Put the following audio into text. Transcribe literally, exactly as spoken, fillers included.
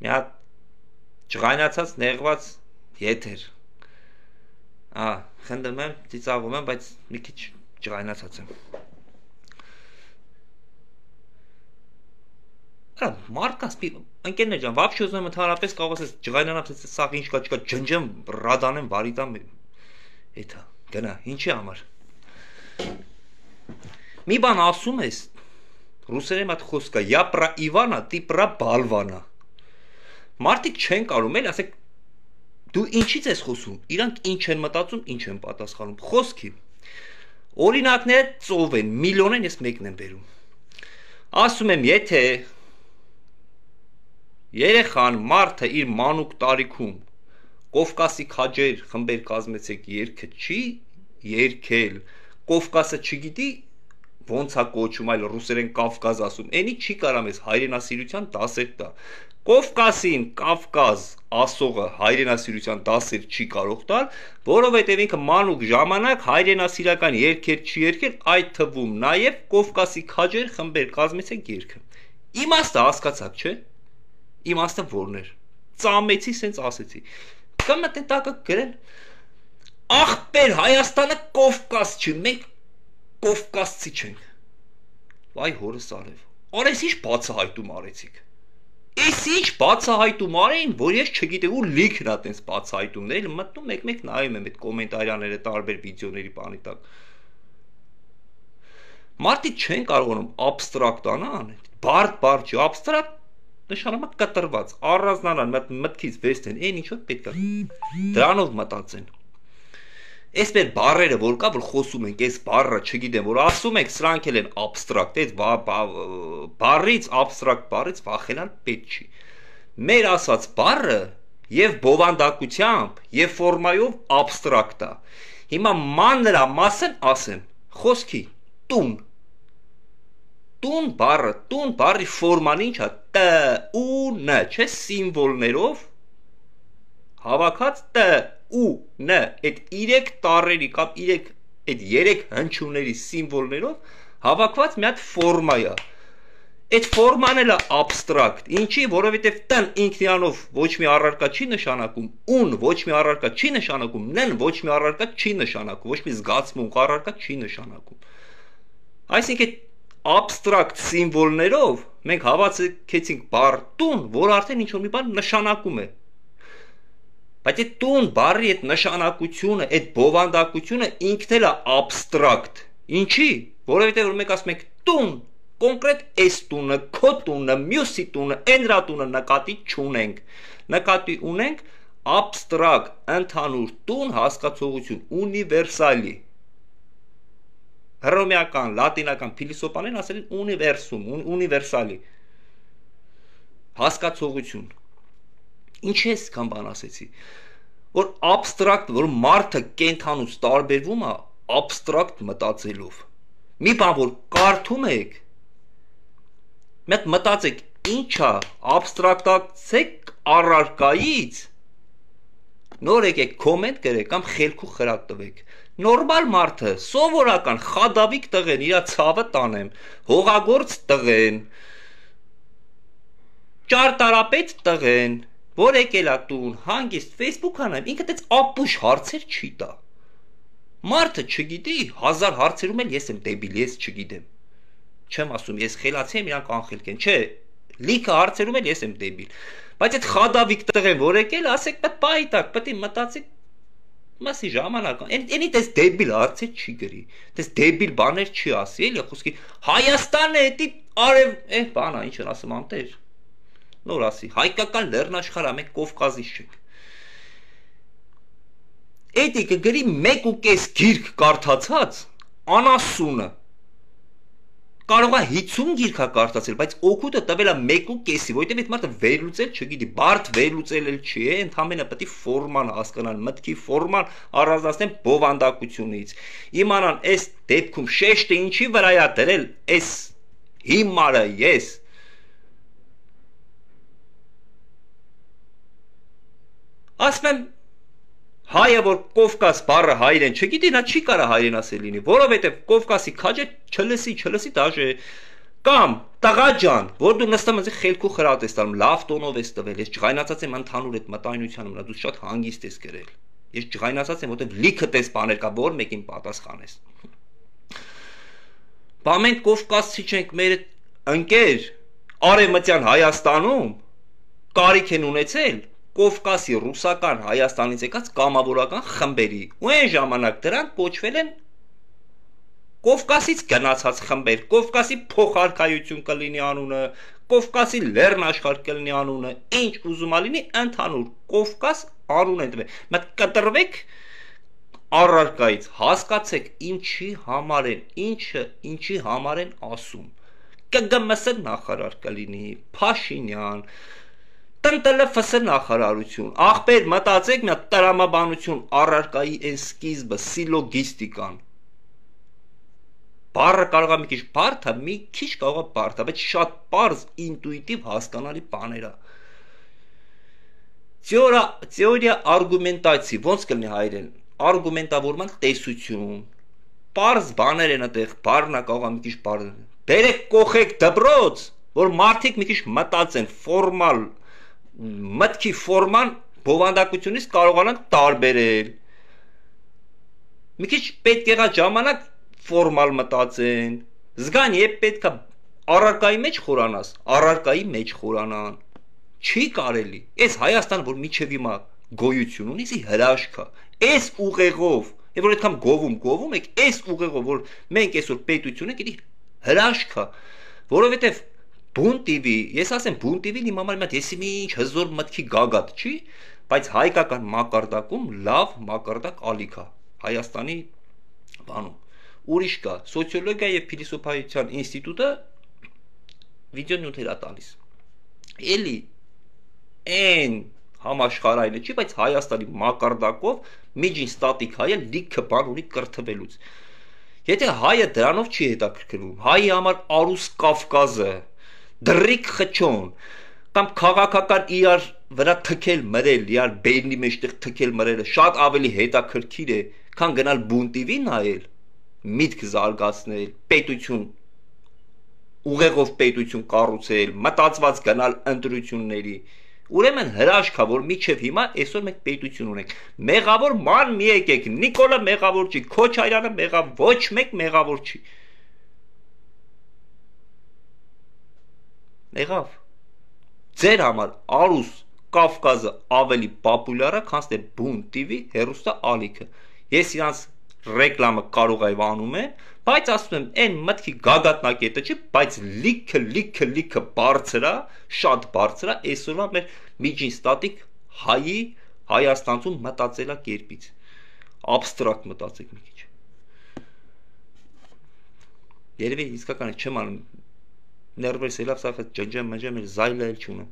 մի հատ ջղայնացած նեղված եթեր։ Ահա, խնդրում եմ, ծիծաղում եմ, բայց մի քիչ ջղայնացած եմ։ Արա, մարդկանց մի ընկերներ ջան, вообще ուզում եմ ընդհանրապես կարող ասես ջղայնանալ, սա ինչ կա, չկա, ջնջեմ, ռադանեմ, վարիտամ, էթա, գնա, ինչի համար։ Մի բան ասում ես, ռուսերեն մատ խոսք կա, я про Ивана, ты про Балвана։ Մարդիկ չեն կարում էլ, ասեք, դու ինչից ես խոսում, իրանք ինչ են մտածում, ինչ են պատասխանում, խոսքի։ Օրինակները ծով են, միլիոն են, ես մեկն եմ բերում։ Ասում եմ, եթե երեխան մարդը իր մանուկ տարիքում Կովկասի քաջեր խմբեր կազմեցեք երգը չի երգել, Կովկասը չգիտի ոնց է կոչում, այլ ռուսերեն Կավկազ ասում, էնի չի կարամ ես հայրենասիրության դասեր տա։ Կովկասին Կավկազ ասողը հայրենասիրության դասեր չի կարող տալ, որովհետև ինքը մանուկ ժամանակ հայրենասիրական երգեր չի երգել, այդ թվում նաև Կովկասի քաջեր խմբեր կազմեցեք երգը։ Իմաստը հասկացաք, չէ՞։ Իմաստը որն էր։ Ծամեցի, սենց ասեցի։ Կամ մտեն տակը գրել։ Ախպեր Հայաստանը Կովկաս չի, մենք Կովկասցի չենք։ Վայ հորս արև։ Արես ինչ բացահայտում արեցիք։ Էս ինչ բացահայտում արեին, որ ես չգիտեմ ու լիքն ա տենց բացահայտումներ, մտնում մեկ-մեկ նայում եմ այդ կոմենտարիաները տարբեր վիդեոների բանի տակ։ Մարդիկ չեն կարողանում աբստրակտանալ, բարդ-բարդ չի, աբստրակտ նշանոմա կտրված, առանձնանան, մտքից վեստեն, այն ինչ-որ պետք է դրանով մտածեն։ Այս մեր բառերը, որ կա, որ խոսում ենք, այս բառը, չգիտեմ, որ ասում ենք, սրանք էլ են աբստրակտ, այս բառից, աբստրակտ բառից վախենալ պետք չի։ Մեր ասած բառը եւ բովանդակությամբ, եւ ֆորմայով աբստրակտ է։ Հիմա մանրա մասն ասեմ, խոսքի տուն։ Տուն բառը, տուն բառի ֆորման ինչ է, տ, ու, ն, չէ, սիմվոլներով հավաքած տ, ու, ն, այդ իրեք տառերի կամ իրեք այդ երեք հնչյունների սիմվոլներով հավաքված մի հատ ֆորմա է։ Այդ ֆորման էլ է աբստրակտ, ինչի, որովհետև տ-ն ինքնիանով ոչ մի առարկա չի նշանակում, ուն ոչ մի առարկա չի նշանակում, ն-ն ոչ մի առարկա չի նշանակում, ոչ մի զգացմունք առարկա չի նշանակում։ Այսինքն աբստրակտ սիմվոլներով մենք հավաքեցինք բառ տուն, որ արդեն ինչ-որ մի բան նշանակում է։ Բայց այդ տուն բառի այդ նշանակությունը, այդ բովանդակությունը ինքն էլ է աբստրակտ։ Ինչի՞, որովհետև որ մենք ասում ենք տուն, կոնկրետ այս տունը, քո տունը, մյուսի տունը, էնրա տունը նկատի չունենք։ Նկատի ունենք աբստրակտ, ընդհանուր տուն հասկացողություն, ունիվերսալի։ Հռոմեական, լատինական փիլիսոփաներն ասել են ունիվերսում, ունիվերսալի հասկացողություն։ Ինչ ես կան բան ասեցի, որ աբստրակտ, որ մարդը կենթանուց տարբերվում է աբստրակտ մտածելով։ Մի բան որ կարդում եք, մեկ մտածեք, ինչ է, աբստրակտացեք առարկայից, նոր եկեք կոմենտ գրեք կամ խելքու խրատ տվեք։ Նորմալ մարդը, սովորական խադավիկ տղեն, իրա ցավը տանեմ, հողագործ տղեն, ճարտարապետ տղեն, որ եկել է տուն, հանգիստ Facebook անեմ, ինքը տեց ապուշ հարցեր չի տա։ Մարդը չգիտի, հազար հարցերում էլ ես եմ դեբիլ, ես չգիտեմ։ Չեմ ասում, ես խելացի եմ, իրանք անխելք են, չէ, լիքը հարցերում էլ ես եմ դեբիլ։ Բայց այդ խադավիկ տղեն, որ եկել, ասեք պետք պայտակ, պետք է մտածեք մասի ժամանակ, այնի տես դեբիլ հարցեր չի գրի, տես դեբիլ բաներ չի ասի, էլի խոսքի Հայաստանը էդի արև, է բանա, ինչ են ասում անտեր, նոր ասի, հայկական լեռնաշխարհ, մենք Կովկասից չենք։ Էդի կգրի մեկ ու կես գիրք կարդացած, անասունը, կարող է հիցուն գիրք է կարդացել, բայց օգուտը տվել է մեկ ու կեսի, որովհետև այդ մարդը վերլուծել չգիտի, բարդ վերլուծել էլ չի, ընդհանրապես պետք է ֆորման հասկանալ, մտքի ֆորման առանձնացնեն բովանդակությունից։ Իմանան այս դեպքում շեշտը ինչի վրա է դրել, այս հիմարը ես ասում եմ հայը որ Կովկաս բառը հայերեն չգիտի, նա չի կարա հայերեն ասել լինի, որովհետև Կովկասի քաջը չլսի, չլսի դաժե Կամ տղա ջան, որ դու նստում ես խելքու խրատ ես տալում, լավ տոնով ես տվել, ես ջղայնացած եմ ընդհանուր այդ մտայնության վրա, դու շատ հանգիստ ես գրել։ Ես ջղայնացած եմ, որտեղ լիքը տես բաներ կա, որ մեկին պատասխանես։ Բա մենք Կովկասցի չենք, մեր ընկեր Արևմտյան Հայաստանում կարիք են ունեցել Կովկասի ռուսական Հայաստանից եկած կամավորական խմբերի, ու այն ժամանակ դրանք կոչվել են Կովկասից գնացած խմբեր, Կովկասի փոխարկայություն կլինի անունը, Կովկասի լեռնաշխարհ կլինի անունը, ինչ ուզում ալինի ընդհանուր Կովկաս անուն են տվել։ Մտ կտրվեք առարկայից, հասկացեք ինչի համար են, ինչը ինչի համար են ասում։ Կը գ մ ս նախարար կլինի, Փաշինյան, Տ Ն Տ Լ Ֆ Ս նախարարություն, ախպեր մտածեք մի հատ տրամաբանություն առարկայի այն սկիզբը, սիլոգիստիկան։ Բառը կարող է մի քիչ բարդ է, մի քիչ կարող է բարդ է, բայց շատ պարզ, ինտուիտիվ հասկանալի բաներ է։ Թեորիա, թեորիա արգումենտացիա, ոնց կլինի հայերեն, արգումենտավորման տեսություն։ Պարզ բաներ են այդտեղ, բառն է կարող է մի քիչ բարդ։ Բերեք կողեք դպրոց, որ մարդիկ մի քիչ մտածեն, ֆորմալ, մտքի ֆորման բովանդակությունից կարողանան տարբերել։ Մի քիչ պետք եղա ժամանակ ֆորմալ մտածեն, զգան երբ պետք է առարկայի մեջ խորանաս, առարկայի մեջ խորանան, չի կարելի, ես Հայաստան, որ միջև հիմա գոյություն ունի, սի հրաշք է, ես ուղեղով, և որ այդքան գովում, գովում եք, ես ուղեղով, որ մենք այսօր պետություն ենք, էդի հրաշք է, որովհետև բուն Տի Վի, ես ասեմ բուն Տի Վին իմ համար մի հատ եսի մի ինչ հզոր մտքի գագաթ չի, բայց հայկական մակարդակում լավ մակարդակ ալիք է, Հայաստանի բանում։ Ուրիշ կա, սոցիոլոգիա և փիլիսոփայության ինստիտուտը վիդեոնյութեր է տալիս։ Էլի այն համաշխարհայինը չի, բայց Հայաստանի մակարդակով միջին ստատիկ հայը լիքը բան ունի կրթվելուց։ Եթե հայը դրանով չի հետաքրքրվում, հայի համար Արուս Կավկազը, դրիկ խճոն, կամ քաղաքական իրար վրա թքել մրել, իրար բերնի մեջտեղ թքել մրելը շատ ավելի հետաքրքիր է, քան գնալ բուն Տի Վի նայել, միտք զարգացնել, պետություն, ուղեղով պետություն կառուցել, մտածված գնալ ընտրությունների, ուրեմն հրաշք է, որ միջև հիմա այսօր մենք պետություն ունենք, մեղավոր ման մի եկեք, Նիկոլը մեղավոր չի, Քոչարյանը մեղավոր, ոչ մեկ մեղավոր չի, եղավ, ձեր համար Արուս Կավկազը ավելի պապուլյար է, քան թե բուն Տի Վի հեռուստա ալիքը, ես իրանց ռեկլամը կարող է անում է, բայց ասում եմ, այն մտքի գագաթնակետը չի, բայց լիքը, լիքը, լիքը բարձր է, շատ բարձր է, այսօրվա մեր միջին ստատիկ հայի, Հայաստանցում մտածելակերպից, աբստրակտ մտածեք մի քիչ։ Երևի իսկական չեմ անում, ներվերս ելավ սախ ջնջեմ, մջեմ, զայլը էլ չունեմ։